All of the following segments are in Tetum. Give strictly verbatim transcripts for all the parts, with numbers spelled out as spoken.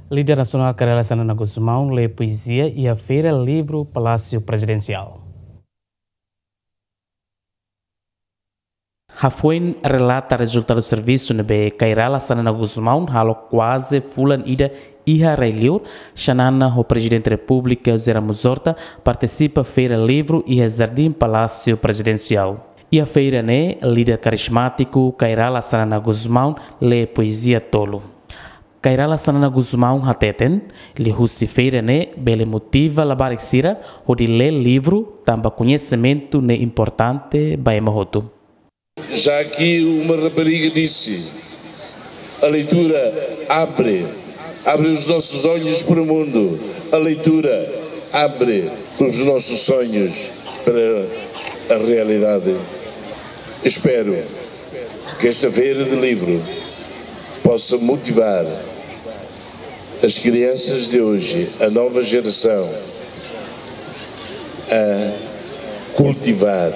Líder nasionál Kay Rala Xanana Gusmão lee poezia iha Feira Livru Palásiu Prezidensiál. Hafoin relata rezultadu servisu ne'ebé Kay Rala Xanana Gusmão halo kuaze fulan ida iha rai-liur, Xanana ho Prezidente Repúblika José Ramos Horta partisipa Feira Livru iha Jardín Palásiu Prezidensiál. Iha feira ne'e, líder karizmátiku Kay Rala Xanana Gusmão lee poezia tolu. Kay Rala Xanana Gusmão hateten, liuhusi feira ne'e bele motiva labarik sira hodi lee livru tanba koñesimentu ne'e importante ba ema hotu. Já aqui uma rapariga disse: a leitura abre, abre os nossos olhos para o mundo, a leitura abre os nossos sonhos para a realidade. Espero que esta feira de livro possa motivar as crianças de hoje, a nova geração, a cultivar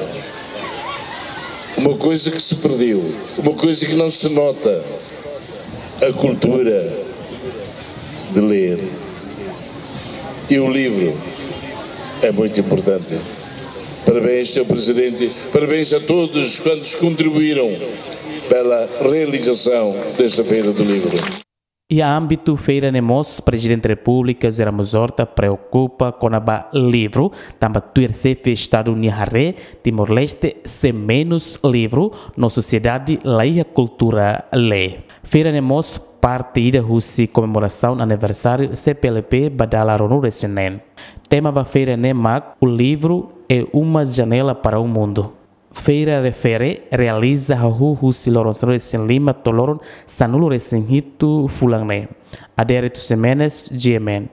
uma coisa que se perdeu, uma coisa que não se nota, a cultura de ler. E o livro é muito importante. Parabéns, senhor Presidente. Parabéns a todos quantos contribuíram pela realização desta Feira do Livro. Iha ámbitu feira ne'e mós, Prezidente Repúblika José Ramos Horta preokupa kona-ba livru, tanba tuir Xefe Estadu nia haree, Timor-Leste sei menus livru, no sosiedade laiha kultura lee. Feira ne'e mós parte ida husi komemorasaun aniversáriu C P L P ba dala ruanulu-resin-neen. Tema ba feira ne'e mak: O livro é uma janela para o mundo. Feira refere realiza hahú husi loron sanulu-resin-lima to'o loron sanulu-resin-hitu fulan ne'e. Adérito Ximenes, G M N.